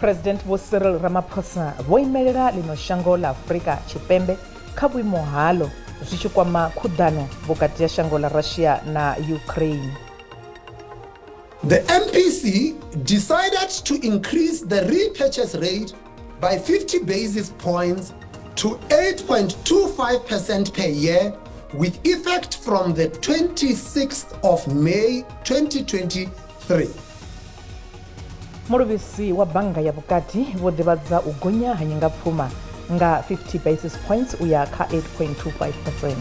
President Vho Cyril Ramaphosa vho imelela ḽino shango ḽa Afrika Tshipembe kha vhuimo haḽo zwi tshi kwama khuḓano vhukati ha shango ḽa Russia na Ukraine. The MPC decided to increase the repurchase rate by 50 basis points to 8.25% per year with effect from the 26th of May 2023. Muluvhisi wa bannga ya vhukati vho ḓivhadza u gonya ha nyingapfuma nga 50 basis points u ya kha 8.25%.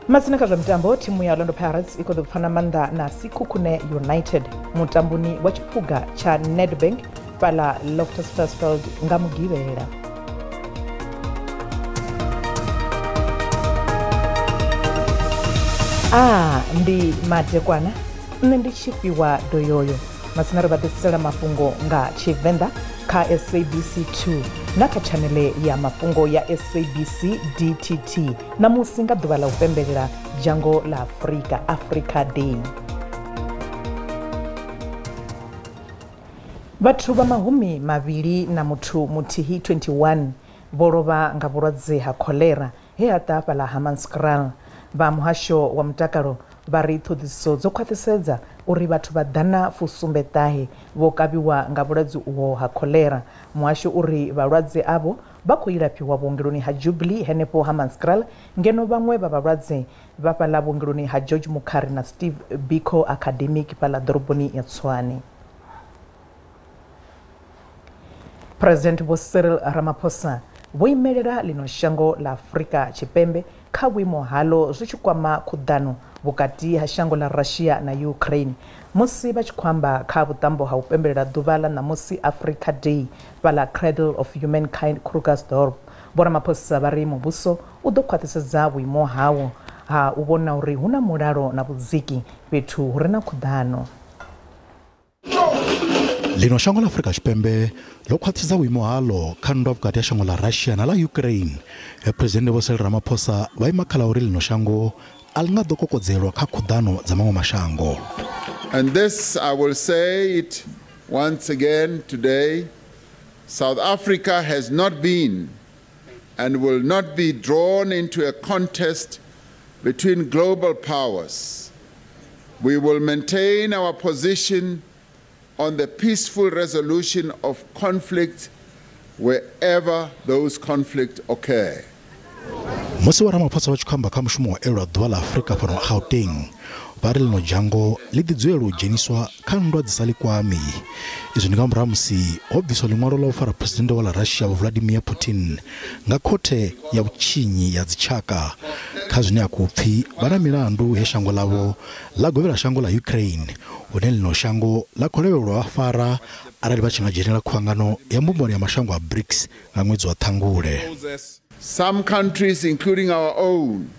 Masina kha zwa mitambo, thimu ya Orlando Pirates i khou ḓo pfana maanḓa na Sekhukhune United mutamboni wa tshiphuga tsha Nedbank fhaḽa Loftus Versfeld nga Mugivhela. A ndi madekwana, nṋe ndi tshifhiwa doyoyo. Masina ri vha ḓisela mafhungo nga Tshivenḓa kha SABC 2 na kha tshanele ya mafhungo ya SABC DTT ṋamusi nga ḓuvha ḽa u pembelela dzhango ḽa Afrika, Africa Day. Vhathu vha 21 21 vho lovha nga vhulwadze ha kholera he ha ḓa fhaḽa Hammanskraal. Vha muhasho wa mutakalo vha ri ṱhoḓisiso dzo khwaṱhisedza uri vhathu vha 179 vho kavhiwa nga vhulwadze uho ha kholera. Muhasho uri vhalwadze avho vha khou ilafhiwa vhuongeloni ha Jubilee henefho Hammanskraal, ngeno vhaṅwe vha vhalwadze vha fhaḽa vhuongeloni ha George Mukhari na Steve Biko Academic fhaḽa ḓoroboni ya Tshwane. President Vho Cyril Ramaphosa vho imelela ḽino shango ḽa Afrika Tshipembe kha vhuimo haḽo zwi tshi kwama khuḓano vhukati ha shango ḽa Russia na Ukraine. Musi vha tshi khou amba kha vhuṱambo ha u pembelela ḓuvha ḽa ṋamusi Africa Day fhaḽa Cradle of Humankind Krugersdorp, Vho Ramaphosa vha ri muvhuso u ḓo khwaṱhisedza vhuimo hawo ha u vhona uri hu na mulalo na vhudziki fhethu hu re na khuḓano. Ḽino shango ḽa Afrika Tshipembe ḽo khwaṱhisa vhuimo haḽo kha nndwa vhukati ha shango ḽa Russia na ḽa Ukraine. He Presidennde Vho Cyril Ramaphosa vha ima kha ḽa uri ḽino shango a ḽi nga ḓo kokodzelwa kha khuḓano dza maṅwe mashango. And this I will say it once again today, South Africa has not been and will not be drawn into a contest between global powers. We will maintain our position on the peaceful resolution of conflicts wherever those conflicts occur. Musi wa Ramaphosa vha tshi khou amba kha mushumo wa elwa ḓuvha ḽa Afrika fhano Gauteng, vha ri ḽino dzhango ḽi ḓi dzulela u dzheniswa kha nndwa dzi sa ḽi kwami. Izwi ndi nga murahu musi ho bviswa ḽiṅwalo ḽa u fara Phresidennde wa ḽa Russia Vho Vladimir Putin nga khothe ya vhutshinyi ya dzitshaka kha zwine a khou pfi vha na milandu he shango ḽavho ḽa govhela shango ḽa Ukraine, hune ḽino shango ḽa khou lavhelelwa vha fara arali vha tshi nga dzhenela khuvhangano ya mbumbano ya mashango a BRICS nga ṅwedzi wa Ṱhangule. Some countries, including our own,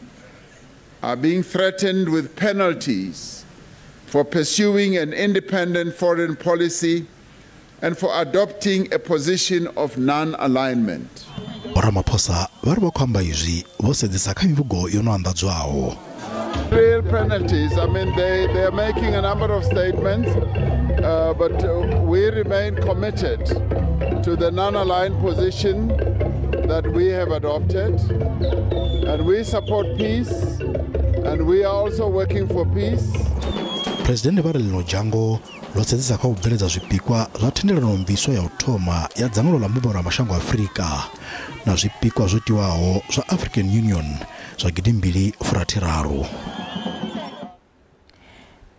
are being threatened with penalties for pursuing an independent foreign policy and for adopting a position of non-alignment. Ramaphosa vha ri vha khou amba izwi vho sedzesa kha mivhigo yo no anḓadzwaho. Real penalties, I mean, they are making a number of statements, but we remain committed to the non-aligned position that we have adopted, and we support peace, and we are also working for peace. President vha ri ḽino dzhango ḽo sedzesa kha u bveledza zwipikwa zwa thendelano mviswa ya u thoma ya dzangano ḽa mbumbano ya mashango a Afrika na zwipikwa zwo tiwaho zwa African Union zwa 2063.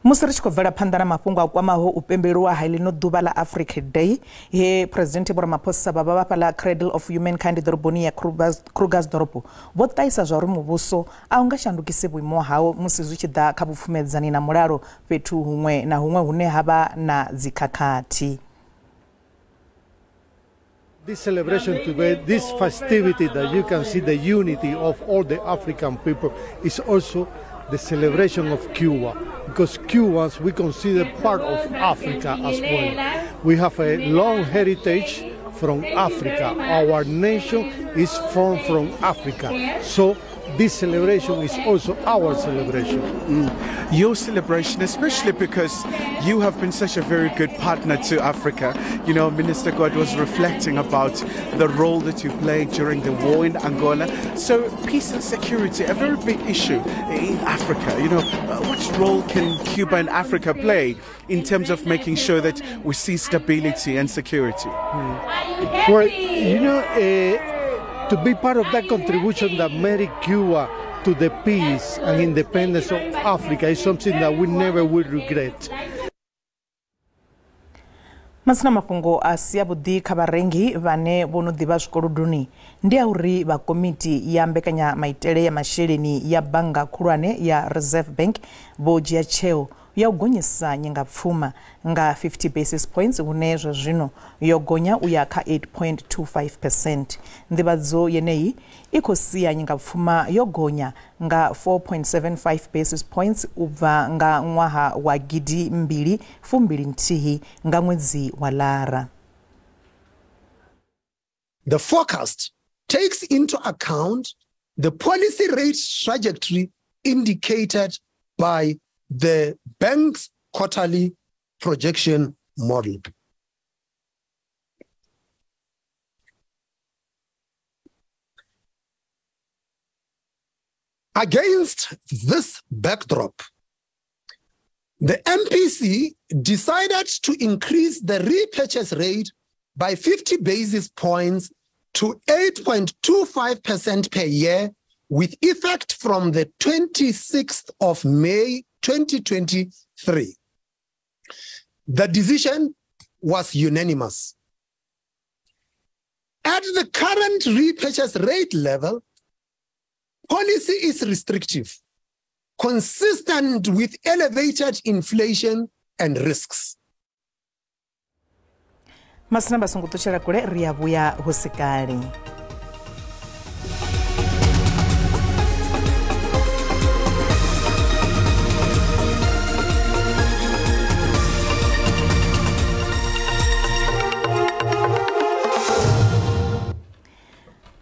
Musi ri tshi khou bvela phanḓa na mafhungo a kwamaho u pembeliwa ha ḽino ḓuvha ḽa Africa Day, he President Vho Ramaphosa vha vha fhaḽa Cradle of Humankind ḓoroboni ya Krugersdorp vho ṱahisa zwa uri muvhuso a u nga shandukisi vhuimo hawo musi zwi tshi ḓa kha vhupfumedzani na mulalo fhethu huṅwe na huṅwe hune ha vha na dzikhakhathi. This celebration today, this festivity that you can see the unity of all the African people, is also the celebration of Cuba, because Cubans we consider part of Africa as well. We have a long heritage from Africa. Our nation is formed from Africa. So This celebration is also our celebration. Your celebration, especially because you have been such a very good partner to Africa. You know, Minister Gwat was reflecting about the role that you played during the war in Angola. So peace and security, a very big issue in Africa. You know, what role can Cuba and Africa play in terms of making sure that we see stability and security? Well, you know, to be part of that contribution that made Cuba to the peace and independence of Africa is something that we never will regret. Masina mafhungo a si avhuḓi kha vharengi vhane vho no ḓivha zwikolodoni ndi a uri vha komiti ya mbekanyamaitele ya masheleni ya bannga khulwane ya Reserve Bank vho dzhia tsheo ya u gonyisa nyingapfuma nga 50 basis points hune zwa zwino yo gonya u ya kha 8.25%. Nḓivhadzo yeneyi i khou sia nyingapfuma yo gonya nga 4.75 basis points u bva nga ṅwaha wa 2021 nga ṅwedzi wa Lara. The forecast takes into account the policy rate trajectory indicated by the bank's quarterly projection model. Against this backdrop, the MPC decided to increase the repurchase rate by 50 basis points to 8.25% per year with effect from the 26th of May 2023. The decision was unanimous. At the current repurchase rate level, policy is restrictive, consistent with elevated inflation and risks. Masina basungu tushela kule ri vhuya hu si kale.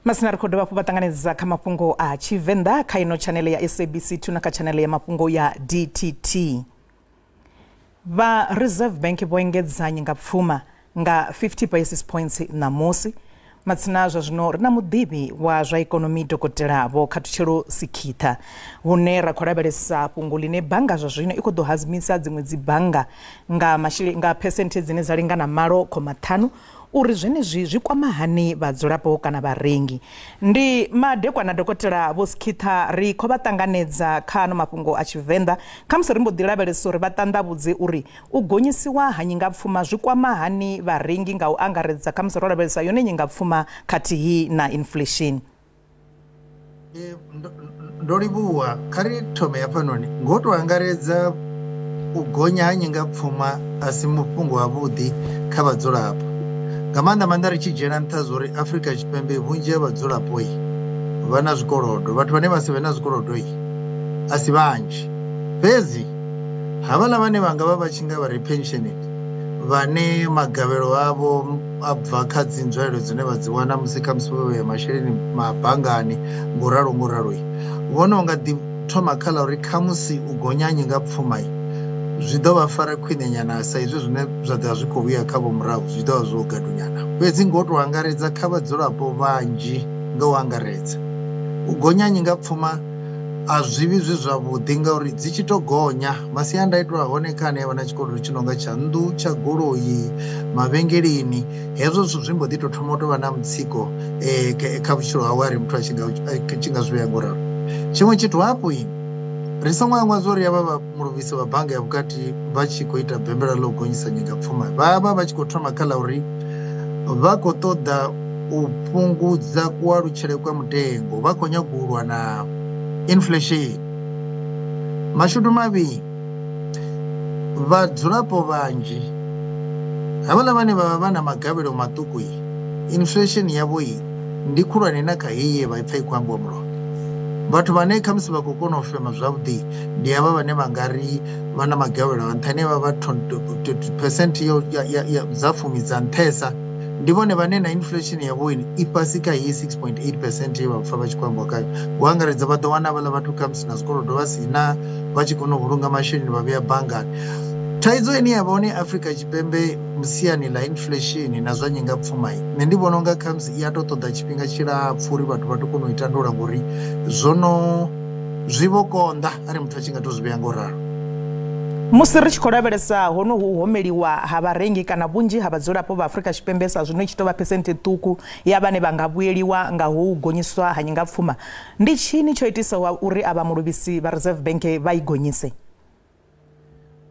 Masina ri khou dovha hafhu vha ṱanganedza kha mafhungo a Tshivenḓa kha ino tshanele ya SABC 2 na kha tshanele ya mafhungo ya DTT. Vha Reserve Bank vho engedza nyingapfuma nga 50 basis points ṋamusi. Matsina zwa zwino ri na muḓivhi wa zwa ikonomi Dokotela Vho Khathutshelo Sikhitha, hune ra khou lavhelesa fhungo ḽine bannga zwa zwino i khou ḓo hadzimisa dziṅwe dzi bannga nga masheleni nga phesenthe dzine dza lingana 8.5 uri zwenezwi zwi kwama hani vhadzulapo kana vharengi. Ndi madekwana Dokotela Vho Sikhitha, ri khou vha ṱanganedza kha ano mafhungo a Tshivenḓa. Khamusi ri mbo ḓi lavhelesa uri vha ṱanḓavhudze uri u gonyisiwa ha nyingapfuma zwi kwama hani vharengi nga u angaredza, khamusi ro lavhelesa yone nyingapfuma khathihi na inflation. Ndo livhuwa. Kha ri thome hafhanoni ngo to angaredza u gonya ha nyingapfuma a si mufhungo wavhuḓi kha vhadzulapo, nga maanḓa maanḓa ri tshi dzhiela nṱha zwa uri Afrika Tshipembe vhunzhi ha vhadzulapo vha na zwikolodo. Vhathu vhane vha si vhe na zwikolodo a si vhanzhi, fhedzi havhaḽa vhane vha nga vha vha tshi nga vha ri pensioned, vhane magavhelo avho a bva kha dzi nzwalelo dzine vha dzi wana musi khamusi vho vhea masheleni mabangani nguralo nguralo, vhone u nga ḓi thoma kha ḽa uri khamusi u gonya nyingapfuma zwi ḓo vha fara khwine nyana, sa izwi zwine zwa ḓo vha zwi khou vhuya kha vho murahu zwi ḓo vha zwo gadunyana. Fhedzi ngo to angaredza kha vhadzulapo vhanzhi, nga u angaredza u gonya nyingapfuma a zwivhi zwi zwavhuḓi, ngauri dzi tshi to gonya masiandaitwa a hone kha ane avha na tshikolodo tshi nonga tsha nnḓu, tsha goloi, mavhengeleni, hezwo zwithu zwi mbo ḓi to thoma u tou vha na mutsiko kha vhutshilo hawe ari muthu a tshi nga zwi vhea ngoralo. Tshiṅwe tshithu hafhu, ri songo hangwa zwa uri havha vha muluvhisi vha bannga ya vhukati vha tshi khou ita bembela ḽa u gonyisa nyingapfuma, vha vha vha tshi khou thoma kha ḽa uri vha khou ṱoḓa u fhungudza kualutshele kwa mutengo, vha khou nyaga u lwa na inflation. Mashudu mavhi, vhadzulapo vhanzhi havhaḽa vhane vha vha vha na magavhelo maṱuku, inflation yavho ndi khulwane na kha heyi ye vha ipfa i khou ambiwa mulovha. Vhathu vhane khamusi vha khou kona u fema zwavhuḓi ndi havha vhane vha nga ri vha na magavhelo a nṱha, ane vha vha percent dza fumi dza nṱhesa Ndi vhone vhane na inflation ya vhoini i fhasi kha iyi 6.8% ye vha pfa vha tshi khou ambiwa khayo. Ngo angaredza vha ḓo wana vhaḽa vhathu khamusi na zwikolodo vha si na, vha tshi kona u vhulunga masheleni vha vhea banngani. Thaidzo ine ya vha hone Afrika Tshipembe siani ḽa inflation na zwa nyingapfuma, nṋe ndi vhona unga khamusi i a to ṱoḓa tshifhinga tshilapfhu uri vhathu vha to kona u i tandulula, ngori zwono zwi vho konḓa arali muthu a tshi nga to zwi vhea ngo ralo. Musi ri tshi khou lavhelesa honohu homeliwa ha vharengi kana vhunzhi ha vhadzulapo vha Afrika Tshipembe sa zwino i tshi tou vha phesenthe ṱhukhu ya vhane vha nga vhuyeliwa nga ho gonyiswa ha nyingapfuma, ndi tshini tsho itisaho uri avha muluvhisi vha Reserve Bank vha i gonyise?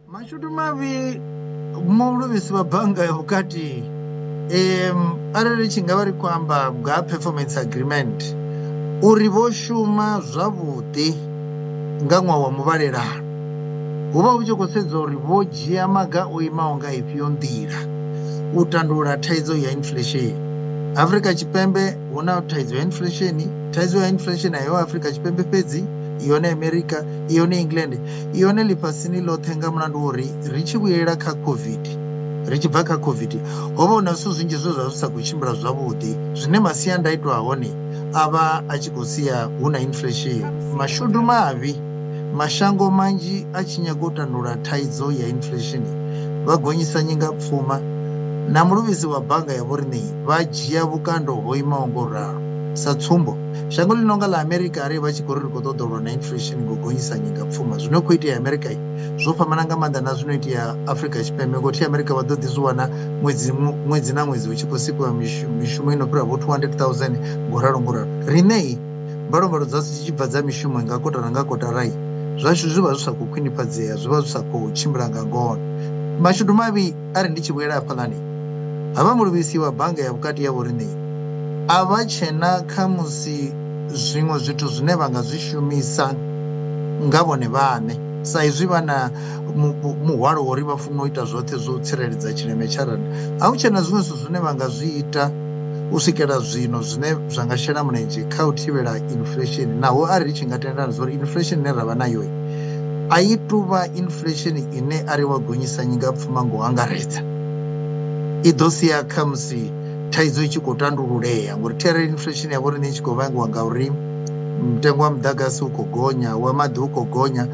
Mashudu mavhi muluvhisi wa bannga ya vhukati, arali tshi nga vha ri khou amba nga performance agreement, uri vho shuma zwavhuḓi nga ṅwaha wa muvhalelano, hu vha hu tshi khou sedza uri vho dzhia maga o imaho nga ifhio nḓila u tandulula thaidzo ya inflation. Afrika Tshipembe hu na thaidzo ya inflation, thaidzo ya inflation a yo Afrika Tshipembe fhedzi, yone America, yone England, yone ḽifhasini ḽoṱhe, nga mulandu wa uri ri tshi vhuyela kha COVID, ri tshi bva kha COVID ho vha hu na zwithu zwinzhi zwe zwa zwi sa khou tshimbila zwavhuḓi, zwine masiandaitwa a hone a vha a tshi khou sia hu na inflation. Mashudu mavhi, mashango manzhi a tshi nyaga u tandulula thaidzo ya inflation vha gonyisa nyingapfuma, na muluvhisi wa bannga ya vhoriṋe vha dzhia vhukando ho imaho ngo ralo. Sa tsumbo, shango ḽi nonga ḽa Amerika arali vha tshi khou ri ri khou ṱoḓa u lwa na inflation ngo gonyisa nyingapfuma, zwino khou itea Amerika zwo fhambana nga maanḓa na zwino itea Afrika Tshipembe, ngori Amerika vha ḓo ḓi zwi wana ṅwedzi na ṅwedzi hu tshi khou sikiwa mishumo ino fhira vho 200,000 ngo ralo ngo ralo. Riṋe mbalombalo dzashu dzi tshi bva dza mishumo nga kotara nga kotara, zwashu zwi vha zwi sa khou khwinifhadzea, zwi vha zwi sa khou tshimbila nga ngona. Mashudu mavhi ari ndi tshi vhuyela hafhaḽani, havha muluvhisi wa bannga ya vhukati ya vhoriṋe a vha tshena khamusi zwiṅwe zwithu zwine vha nga zwi shumisa nga vhone vhaṋe, sa izwi vha na muhwalo wa uri vha funa u ita zwoṱhe zwo tsireledza tshileme tsha rannda. A hu tshena zwiṅwe zwithu zwine vha nga zwi ita u swikela zwino zwine zwa nga shela mulenzhe kha u thivhela inflation, naho arali tshi nga tendelana zwa uri inflation ine ra vha nayo a i tuvha inflation ine ari wa gonyisa nyingapfuma ngo angaredza, i ḓo sia khamusi thaidzo i tshi khou tandululea, ngori arali inflation ya vhoriṋe i tshi khou vhangiwa nga uri mutengo wa muḓagasi u khou gonya, wa maḓi u khou gonya,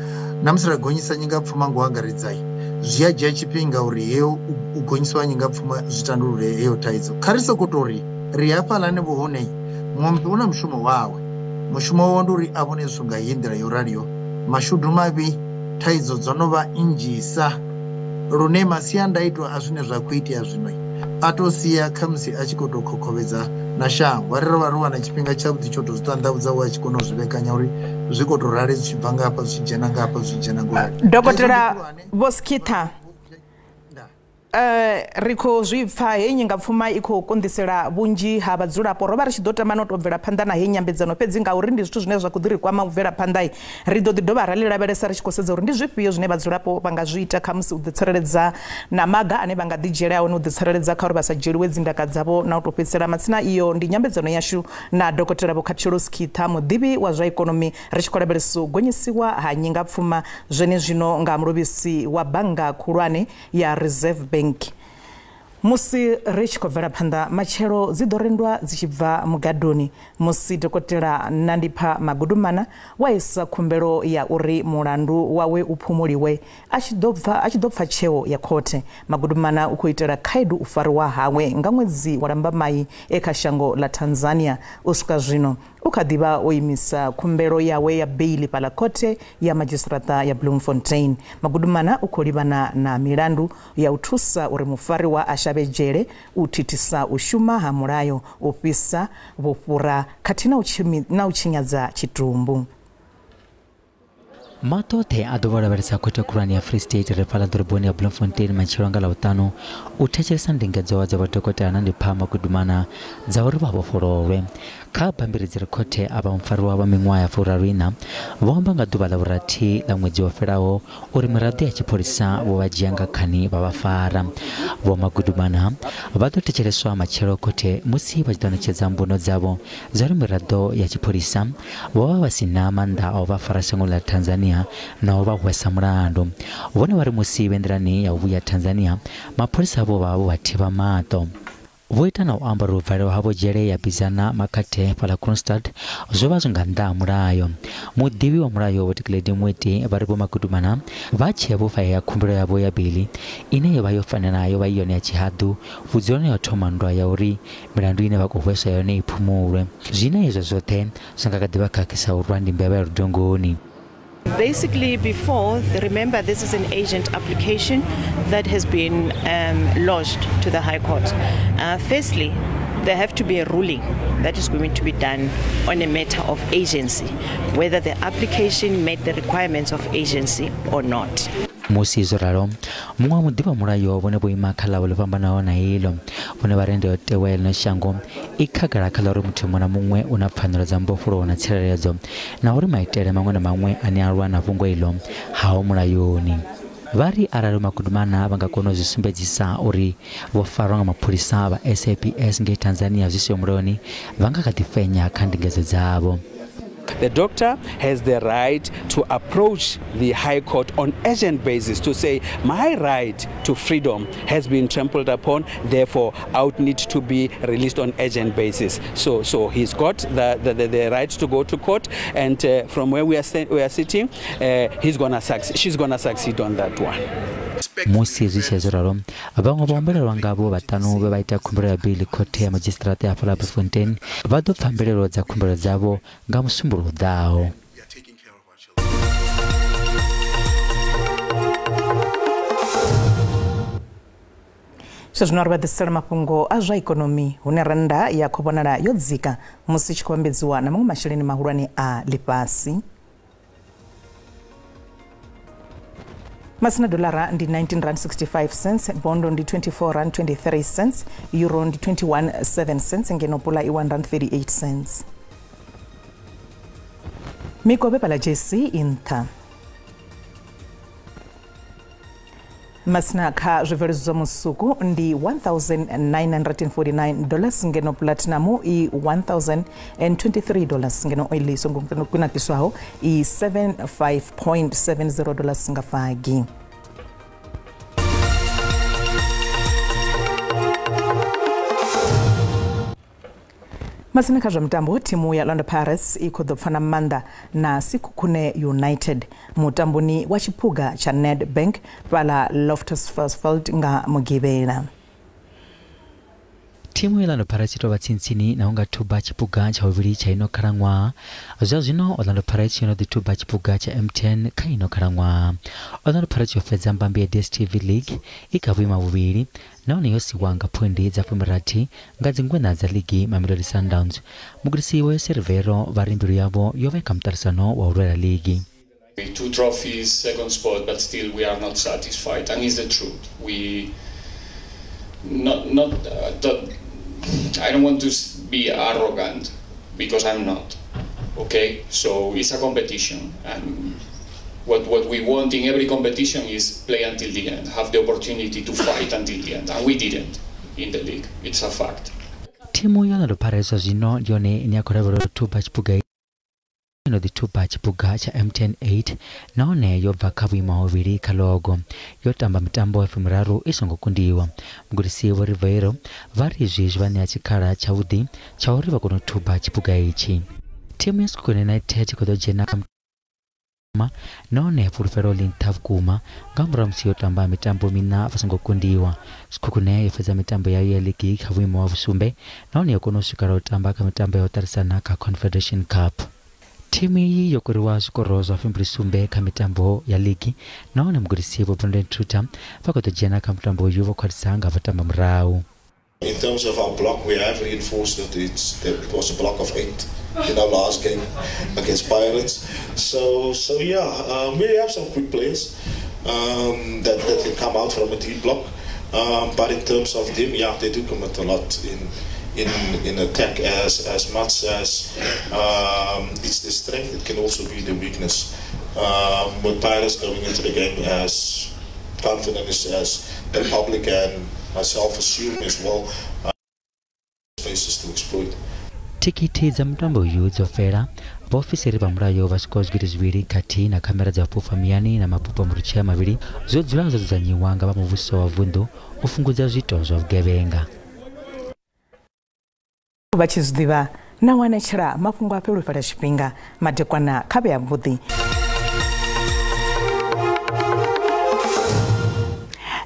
na musi ra gonyisa nyingapfuma ngo angaredza zwi a dzhia tshifhinga uri heyo u gonyisiwa nyingapfuma zwi tandulule heyo thaidzo. Kha ri sokou tou ri ri hafhaḽani vho hone muṅwe muthu u na mushumo wawe, mushumo wawe ndi uri a vhone zwithu nga iyi nḓila yo raliho. Mashudu mavhi thaidzo dzo no vha nnzhisa lune masiandaitwa a zwine zwa khou itea zwino a to sia khamusi a tshi khou tou khokhovhedza na shango. Arali ro vha ro wana tshifhinga tshavhuḓi tsho tou zwi ṱanḓavhudza, u a tshi kona u zwi vhekanya uri zwi khou tou rali, zwi tshi bva nga hafha zwi tshi dzhena nga hafha zwi tshi dzhena ngo rali. Dokotela Vho Skhitha, ri khou zwi pfa heyi nyingapfuma i khou konḓisela vhunzhi ha vhadzulapo. Ro vha ri tshi ḓo tama no tou bvela phanḓa na heyi nyambedzano, fhedzi ngauri ndi zwithu zwine zwa khou ḓi ri kwama u bvela phanḓa, ri ḓo ḓi dovha ra ḽi lavhelesa ri tshi khou sedza uri ndi zwifhio zwine vhadzulapo vha nga zwi ita khamusi u ḓitsireledza na maga ane vha nga ḓi dzhiela one u ḓitsireledza kha uri vha sa dzhieliwe dzindaka dzavho na u tou fhedzisela matsina. Iyo ndi nyambedzano yashu na Dokotela Vho Khathutshelo Skhitha, muḓivhi wa zwa ikonomi, ri tshi khou lavhelesa u gonyisiwa ha nyingapfuma zwenezwino nga muluvhisi wa bannga khulwane ya Reserve Bank. Musi ri tshi khou bvela phanḓa, matshelo dzi ḓo rendwa dzi tshi bva mugadoni musi Dokotela Nandipha Magudumana wa isa khumbelo ya uri mulandu wawe u phumuliwe a tshi ḓo pfa tsheo ya khothe. Magudumana u khou itela khaedu u fariwa hawe nga ṅwedzi wa Lambamai e kha shango ḽa Tanzania. U swika zwino u kha ḓivha o imisa khumbelo yawe ya beili fhaḽa khothe ya madzhisiṱiraṱa ya Bloemfontein. Magudumana u khou livhana na milandu ya u thusa uri mufariwa a shavhe dzhele, u thithisa u shuma ha mulayo, u fhisa vhufhura khathihi na u tshinyadza tshitumbu. Maṱo oṱhe a ḓo vha lavhelesa khothe khulwane ya Free State re fhaḽa ḓoroboni ya Bloemfontein matshelo nga Ḽavhuṱanu u thetshelesa ndingedzo dza vhadokotela Nandipha Magudumana dza uri vha vhofhololwe. Kha bammbiri dzi re khothe, a vha mufariwa vha miṅwaha ya 34 vho amba nga ḓuvha ḽa vhurathi ḽa ṅwedzi wo fhelaho uri miraḓo ya tshipholisa vho vha dzhia nga khani vha vha fara. Vho Magudumana vha ḓo thetsheleswa matshelo khothe musi vha tshi ḓo ṋetshedza mbuno dzavho dza uri miraḓo ya tshipholisa vho vha vha si na maanḓa a u vha fara shangoni ḽa Tanzania na u vha hwesa mulandu. Vhone vha ri musi vhe nḓilani ya u vhuya Tanzania, mapholisa vho vha vho vha thivha maṱo. Vho ita na u amba uri u valelwa havho dzhele ya Bizana Makhathe fhaḽa Kroonstad zwo vha zwi nga nnḓa ha mulayo. Muḓivhi wa mulayo Vho Dikeledi Moeti vha ri Vho Magudumana vha tshee vho fhahea khumbelo yavho ya beiḽi ine yo vha yo fanela yo vha i yone ya tshihaḓu vhudzuloni ha u thoma nndwa ya uri milandu ine vha khou hweswa yone i phumulwe. Zwine izwo zwoṱhe zwi nga kha ḓi vha khakhisa u rwa ndi mbevha ya ludongoni. Basically, before, remember this is an agent application that has been lodged to the High Court. Firstly, there have to be a ruling that is going to be done on a matter of agency, whether the application met the requirements of agency or not. Musi zwo ralo, muṅwe wa muḓivhi wa mulayo vhone vho ima kha ḽavho ḽo fhambanaho na iḽo. Vhone vha ri ndayotewa ya ḽino shango i khagala kha ḽa uri muthu muṅwe na muṅwe u na pfanelo dza mbofholowo na tsireledzo, na uri maitele maṅwe na maṅwe ane a lwa na fhungo iḽo haho mulayoni. Vha ri arali Magudumana vha nga kona u zwi sumbedzisa uri vho farwa nga mapholisa vha SAPS ngei Tanzania zwi siho mulayoni, vha nga kha ḓi fhenya kha ndingedzo dzavho. The doctor has the right to approach the High Court on urgent basis to say, my right to freedom has been trampled upon, therefore I would need to be released on urgent basis. So he's got the right to go to court, and from where we are sitting, he's gonna succeed, she's gonna succeed on that one. Musi zwi tshi zwo ralo, vhaṅwe vhahumbulelwa ngavho vhaṱanu vhe vha ita khumbelo ya beiḽi khothe ya madzhisiṱiraṱa ya fhaḽa Bloemfontein vha ḓo pfa mbilaelo dza khumbelo dzavho nga musumbuluwo u ḓaho. Zwino ri vha ḓisela mafhungo a zwa ikonomi hune rennda ya khou vhonala yo dzika musi tshi khou vhambedziwa na maṅwe masheleni mahulwane a ḽifhasi. Masina dollara ndi 19.65 rand, bondo ndi 24.23 rand, euro ndi 21.7 cents, ngeno pula i 1.38 rand. Mikovhe pala JC i nṱha. Masina kha zwibveledzwa zwa musuku ndi $1,949 ngeno platinum i $1,023 ngeno oil i songo kunakiswaho i $75.70 nga fagi. Masina kha zwa mitambo, thimu ya Orlando Pirates i khou ḓo pfana maanḓa na Sekhukhune United mutamboni wa tshiphuga tsha Nedbank fhaḽa Loftus Versfeld nga Mugivhela. Thimu ya Orlando Pirates i tou vha tsintsini na u nga thuba tshiphuga tsha vhuvhili tsha ino khalaṅwaha. Zwa zwino Orlando Pirates yo no ḓi thuba tshiphuga tsha M10 kha ino khalaṅwaha. Orlando Pirates yo fhedza mbambe ya DStv League i kha vhuimo ha vhuvhili nahone yo siwa nga phoindi dza 60 nga dzingweṋa dza ligi Mamelodi Sundowns. Mugudisi Vho Jose Riveiro vha ri mbilu yavho yo vha kha muṱaṱisano wa u lwela ligi. 2 trophies, second spot, but still we are not satisfied, and it's the truth. We not I don't want to be arrogant, because I'm not. Okay, so it's a competition, and what we want in every competition is play until the end, have the opportunity to fight until the end, and we didn't in the league. It's a fact. Thimu ya Orlando Pirates zwino ndi yone ine ya khou lavhelelwa u thuba tshiphuga ino ḓi thuba tshiphuga tsha MTN 8 nahone yo bva kha vhuimo ha vhuvhili kha logo. Yo tamba mitambo ya 30 i songo kundiwa. Mugudisi Vho Riveiro vha ri izwi zwi vha ṋea tshikhala tshavhuḓi tsha uri vha kone u thuba tshiphuga itshi. Thimu ya Sekhukhune United i khou ḓo dzhena kha nahone fhulufhelo ḽi nṱha vhukuma nga murahu musi yo tamba mitambo miṋa vha songo kundiwa. Sekhukhune yo fhedza mitambo yayo ya ligi kha vhuimo ha vhusumbe nahone yo kona u swikela u tamba kha mitambo ya u ṱarisana kha Confederation Cup. Thimu iyi yo kuriwa zwikoro zwa 27 kha mitambo ya ligi nahone mugudisi Vho Brandon Truter vha khou ḓo dzhena kha mutambo uyu vho khwaṱhisa nga vhatamba murahu. In terms of our block, we have reinforced it. It was a block of 8 in our last game against Pirates. So yeah, we have some quick players that can come out from a deep block. But in terms of them, yeah, they do commit a lot in attack. As much as it's the strength, it can also be the weakness. With Pirates going into the game as confident as the public and myself assume as well, spaces to exploit. Tikiti dza mutambo uyu dzo fhela. Vhaofisiri vha mulayo vha swikaho 2000 khathihi na khamera dza fhufha muyani na mabupo murutshea mavhili zwo dzula zwo dzudzanyiwa nga vha muvhuso wa vunḓu u fhungudza zwiito zwa vhugevhenga. Vha tshi zwi ḓivha na wanetshela mafhungo a fhelo fhela tshifhinga madekwana kha vhe avhuḓi.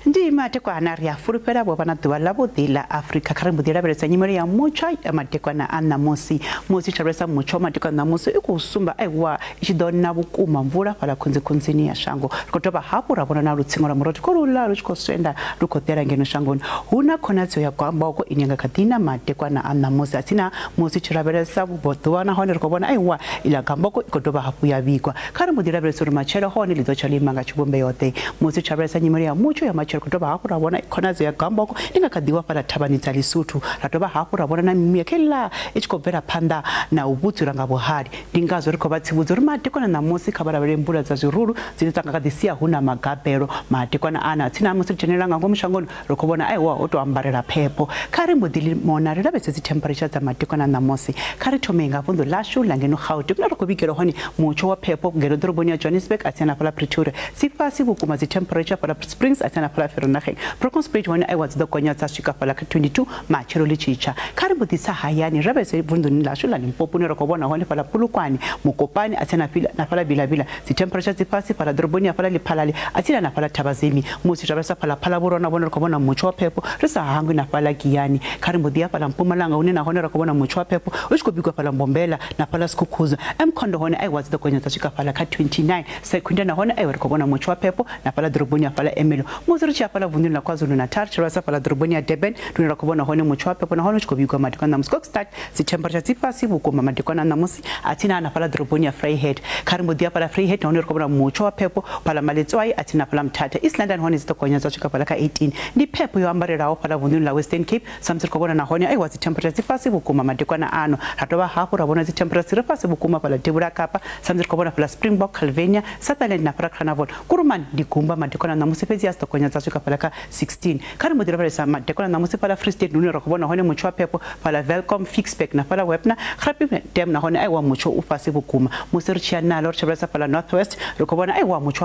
Ndi madekwana ri a fulufhela vho vha na ḓuvha ḽavhuḓi ḽa Afrika. Kha ri mbo ḓi lavhelesa nyimele ya mutsho ya madekwana a ṋamusi. Musi tshi lavhelesa mutsho wa madekwana ṋamusi i khou sumba aiwa i tshi ḓo na vhukuma mvula fhala khunzikhunzini ya shango. Ri khou dovha hafhu ra vhona na lutsingo lwa murotho khou luḽa lu tshi khou swenda lu khou ḓela ngeno shangoni. Hu na khonadzeo ya gwamboko ine nga kha ḓi na madekwana a ṋamusi. Atsina musi tshi lavhelesa vhuḓuvha nahone ri khou vhona aiwa iḽa gwamboko i khou dovha hafhu ya vhigwa. Kha ri mbo ḓi lavhelesa uri matshelo hone ḽi ḓo tsha lima nga tshivhumbeo ḓe. Musi tshi lavhelesa nyimele ya mutsho ya matshelo dovha hafhu ra vhona khonadzeo ya gwamboko i nga kha ḓiwa fhala thavhani dza Lesotho. Ra dovha hafhu ra vhona na mimuya kheḽa i tshi khou bvela phanḓa na u vhudzula nga vhuhali. Ndi ngazwo ri khou vha tsivhudza uri madekwana ṋamusi kha vha lavhelele mvula dza zwirulu dzine dza nga kha ḓi sia hu na magabelo. Madekwana ana tsina musi ri dzhenelela nga ngomu shangoni ri khou vhona aiwa ho tou ambarela phepho. Kha ri mbo ḓi mona ri lavhelese dzi temperature dza madekwana ṋamusi. Kha ri thome nga vunḓu ḽashu ḽa ngeno Gauteng kuna ri khou vhigela hone mutsho wa phepho ngeno ḓoroboni ya Johannesburg a tsina fhala Pretoria dzi fhasi vhukuma dzi temperature fhala Springs a tsina fhala Vereeniging. Bronkhorstspruit hone aiwa dzi ḓo gonya dza swika fhala kha 22 matshelo ḽi tshi tsha. Kha ri mbo ḓi tsa hayani ra vhese vunḓuni ḽashu ḽa Limpopo ne ri khou vhona hone fhala Polokwane, Mokopane a tsena na fhala Bilavila dzi temperature dzi fhasi fhala ḓoroboni ya fhala Lephalale a tsina na fhala Thabazemi. Musi ra vhesa fhala Phalaborwa na vhone ri khou vhona mutsho wa phepho ri sa hangwi na fhala Giyani. Kha ri mbo ḓi ya fhala Mpumalanga hune na hone ri khou vhona mutsho wa phepho u tshi khou bikwa fhala Mbombela na fhala Skukuza. Mkhondo hone aiwa dzi ḓo gonya dza swika fhala kha 29. Secunda na hone aiwa ri khou vhona mutsho wa phepho na fhala ḓoroboni ya fhala Ermelo. Musi ri tshi ya fhala vunḓuni ḽa KwaZulu-Natal tshi lavhelesa fhala ḓoroboni ya Durban ndi ra khou vhona hone mutsho wa phepho nahone u tshi khou vhigwa madekwana ṋamusi. Kokstad dzi temperature dzi fhasi vhukuma madekwana ṋamusi a tsina na fhala ḓoroboni ya Vryheid. Kha ri mbo ḓi ya fhala Vryheid nahone ri khou vhona mutsho wa phepho fhala Maletswai a tsina fhala Mthatha. East London hone dzi ḓo gonya dza swika fhala kha 18. Ndi phepho yo ambarelaho fhala vunḓuni ḽa Western Cape samusi ri khou vhona nahone aiwa dzi temperature dzi fhasi vhukuma madekwana ano. Ra dovha hafhu ra vhona dzi temperature dzi re fhasi vhukuma fhala Devhula Kapa samusi ri khou vhona fhala Springbok, Calvinia, Sutherland na fhala Carnarvon. Kuruman ndi gumba madekwana ṋamusi fhedzi a dzi ḓo gonya dza swika fhala kha 16. Kha ri mbo ḓi lavhelesa madekwana ṋamusi fhala Free State hune ra khou vhona hone mutsho wa phepho fhala Welkom, Ficksburg na fhala Wepner. Graaff Dam nahone aiwa mutsho u fhasi vhukuma. Musi ri tshi ya nalo ri tshi lavhelesa fhala North West ri khou vhona aiwa mutsho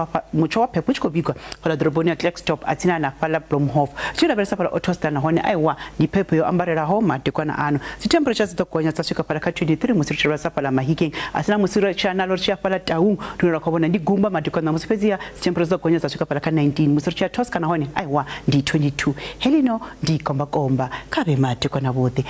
wa phepho u tshi khou bikwa fhala ḓoroboni ya Klerksdorp a tsina na fhala Blomhof. Tshi lavhelesa fhala Ottosdal nahone aiwa ndi phepho yo ambarelaho madekwana ano. Dzi temperature dzi ḓo gonya dza swika fhala kha 23 musi ri tshi lavhelesa fhala Mahikeng a tsina. Musi ri tshi ya nalo ri tshi ya fhala Taung ndi ra khou vhona ndi gumba madekwana ṋamusi fhedziha dzi temperature dzi ḓo gonya dza swika fhala kha 19. Musi ri tshi ya Tosca nahone aiwa ndi 22. Helino ndi kombakomba kha vhe madekwana vhuḓi.